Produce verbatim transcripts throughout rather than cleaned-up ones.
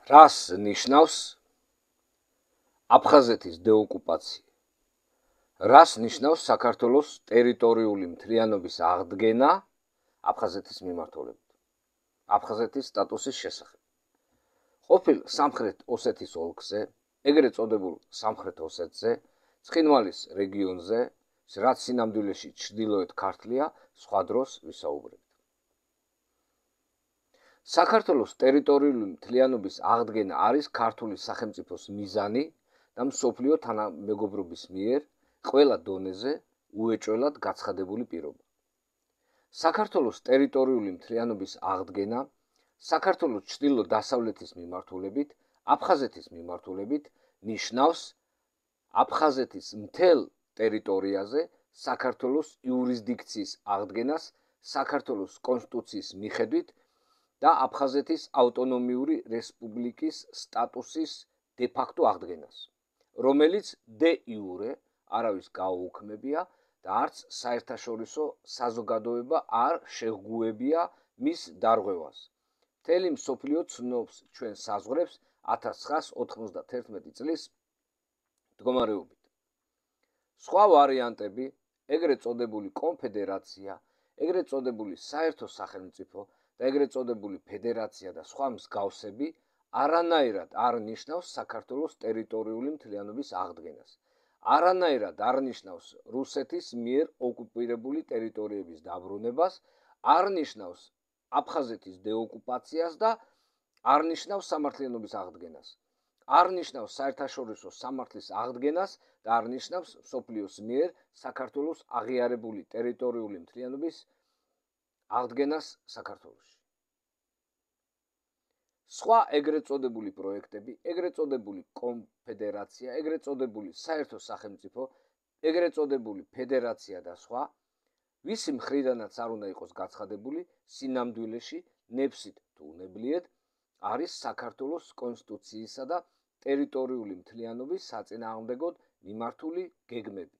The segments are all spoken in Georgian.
რას ნიშნავს აფხაზეთის დეოკუპაცია? რას ნიშნავს საქართველოს ტერიტორიული მთლიანობის აღდგენა აფხაზეთის მიმართულებით? აფხაზეთის სტატუსის შესახებ. ყოფილ სამხრეთ ოსეთის ოლქზე, ეგრეთ წოდებულ სამხრეთ ოსეთზე, ცხინვალის რეგიონზე, რაც სინამდვილეში ჩრდილოეთ ქართლია, სხვა დროს ვისაუბრებთ. საქართველოს ტერიტორიული მთლიანობის აღდგენა არის ქართული სახელმწიფოს მიზანი და მსოფლიო თანამეგობრობის მიერ ყველა დონეზე უეჭველად გაცხადებული პირობა. საქართველოს ტერიტორიული მთლიანობის აღდგენა საქართველოს ჩრდილო-დასავლეთის მიმართულებით, აფხაზეთის მიმართულებით ნიშნავს აფხაზეთის მთელ ტერიტორიაზე საქართველოს იურისდიქციის აღდგენას საქართველოს კონსტიტუციის მიხედვით და აფხაზეთის ავტონომიური რესპუბლიკის სტატუსის დე-ფაქტო აღდგენას, რომელიც დე-იურე არავის გაუუქმებია და არც საერთაშორისო საზოგადოება არ შეჰგუებია მის დარღვევას. მთელი მსოფლიო ცნობს ჩვენ საზღვრებს ათას ცხრაას ოთხმოცდათერთმეტი წლის მდგომარეობით. სხვა ვარიანტები, ეგრეთ წოდებული კონფედერაცია, ეგრეთ წოდებული საერთო სახელმწიფო და ეგრეთ წოდებული ფედერაცია და სხვა მსგავსები არანაირად არ ნიშნავს საქართველოს ტერიტორიული მთლიანობის აღდგენას. არანაირად არ ნიშნავს რუსეთის მიერ ოკუპირებული ტერიტორიების დაბრუნებას, არ ნიშნავს აფხაზეთის დეოკუპაციას და არ ნიშნავს სამართლიანობის აღდგენას. არ ნიშნავს საერთაშორისო სამართლის აღდგენას და არ ნიშნავს მსოფლიოს მიერ საქართველოს აღიარებული ტერიტორიული მთლიანობის აღდგენას საქართველოში. სხვა ეგრეთ წოდებული პროექტები, ეგრეთ წოდებული კონფედერაცია, ეგრეთ წოდებული საერთო სახელმწიფო, ეგრეთ წოდებული ფედერაცია და სხვა, ვისი მხრიდანაც არ უნდა იყოს გაცხადებული, სინამდვილეში ნებსით თუ უნებლიეთ არის საქართველოს კონსტიტუციისა და ტერიტორიული მთლიანობის საწინააღმდეგოდ მიმართული გეგმები.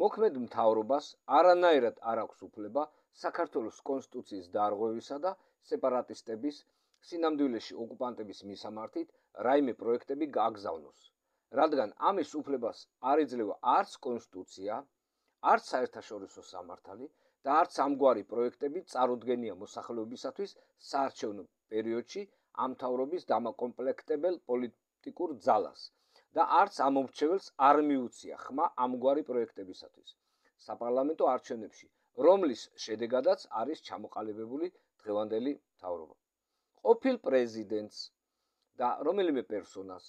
მოქმედ მთავრობას არანაირად არ აქვს უფლება საქართველოს კონსტიტუციის დარღვევისა და სეპარატისტების სინამდვილეში ოკუპანტების მისამართით რაიმე პროექტები გააგზავნოს, რადგან ამის უფლებას არ იძლევა არც კონსტიტუცია, არც საერთაშორისო სამართალი და არც ამგვარი პროექტები წარუდგენია მოსახლეობისათვის საარჩევნო პერიოდში ამ მთავრობის დამაკომპლექტებელ პოლიტიკურ ძალას და არც ამომრჩეველს არ მიუცია ხმა ამგვარი პროექტებისათვის საპარლამენტო არჩევნებში, რომლის შედეგადაც არის ჩამოყალიბებული დღევანდელი მთავრობა. ყოფილ პრეზიდენტს და რომელიმე პერსონას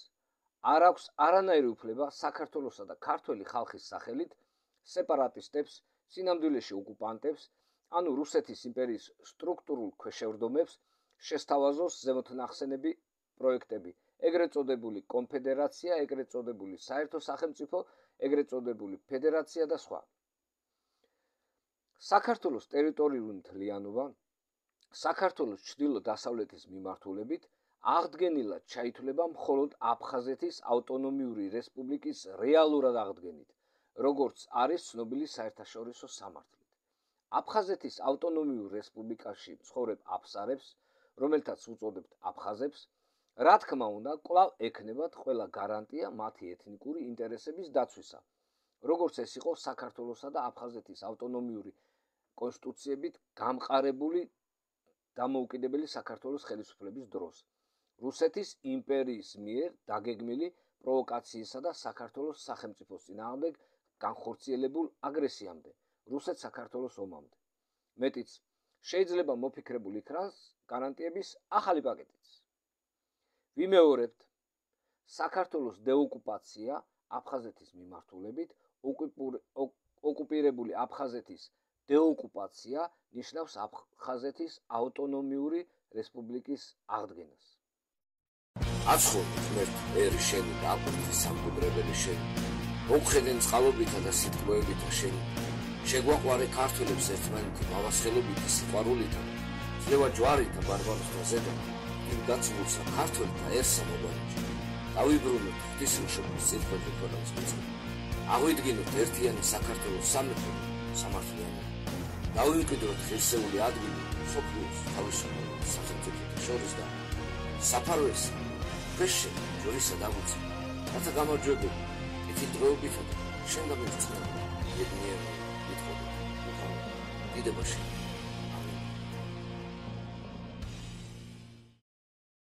არ აქვს არანაირი უფლება საქართველოსა და ქართველი ხალხის სახელით სეპარატისტებს, სინამდვილეში ოკუპანტებს, ანუ რუსეთის იმპერიის სტრუქტურულ ქვეშევრდომებს შესთავაზოს ზემოთნახსენები პროექტები, ეგრეთ წოდებული კონფედერაცია, ეგრეთ წოდებული საერთო სახელმწიფო, ეგრეთ წოდებული ფედერაცია და სხვა. საქართველოს ტერიტორიული მთლიანობა საქართველოს ჩრდილო-დასავლეთის მიმართულებით აღდგენილად ჩაითვლება მხოლოდ აფხაზეთის ავტონომიური რესპუბლიკის რეალურად აღდგენით, როგორც არის ცნობილი საერთაშორისო სამართლით. აფხაზეთის ავტონომიურ რესპუბლიკაში მცხოვრებ აფსარებს, რომელთაც უწოდებთ აფხაზებს, რა თქმა უნდა, კვლავ ექნებათ ყველა გარანტია მათი ეთნიკური ინტერესების დაცვისა, როგორც ეს იყო საქართველოსა და აფხაზეთის ავტონომიური კონსტიტუციებით გამყარებული დამოუკიდებელი საქართველოს ხელისუფლების დროს, რუსეთის იმპერიის მიერ დაგეგმილი პროვოკაციისა და საქართველოს სახელმწიფოს წინააღმდეგ განხორციელებულ აგრესიამდე, რუსეთ-საქართველოს ომამდე. მეტიც, შეიძლება მოფიქრებული იქნას გარანტიების ახალი პაკეტიც. ვიმეორებთ, საქართველოს დეოკუპაცია აფხაზეთის მიმართულებით, ოკუპირებული აფხაზეთის დეოკუპაცია ნიშნავს აფხაზეთის ავტონომიური რესპუბლიკის აღდგენას. აცხოვთ მერტ ერი შენი და აპრილის სამგუბრებელი შენი, მოგხედენ წყალობითა და სიტყვებითა შენი, შეგვაყვარე ქართველებს ერთმანეთი მავასხელობითი სიყვარულითა, ძლევა ჯვარითა ბარბაროსთა ზედა, იმ გაცმულსა ქართველთაერსა მოგანიჭი, დავიბრუნოთ ღვთისმშობლის წირკვეთზე ქონავს მიწა, აღვიდგინოთ ერთიანი საქართველოს სამეფო სამართლიანი, დავიმკვიდროთ ღირსეული ადგილი მსოფლიოს თავისუფლების სახელმწიფოთა შორის და საფარველს ქვეშე ჯორისა დამუცა რათა გამარჯვებული ეთილ დღეობითა და შენ გამერცხნა ბედნიერი მithode უკავ დიდებაში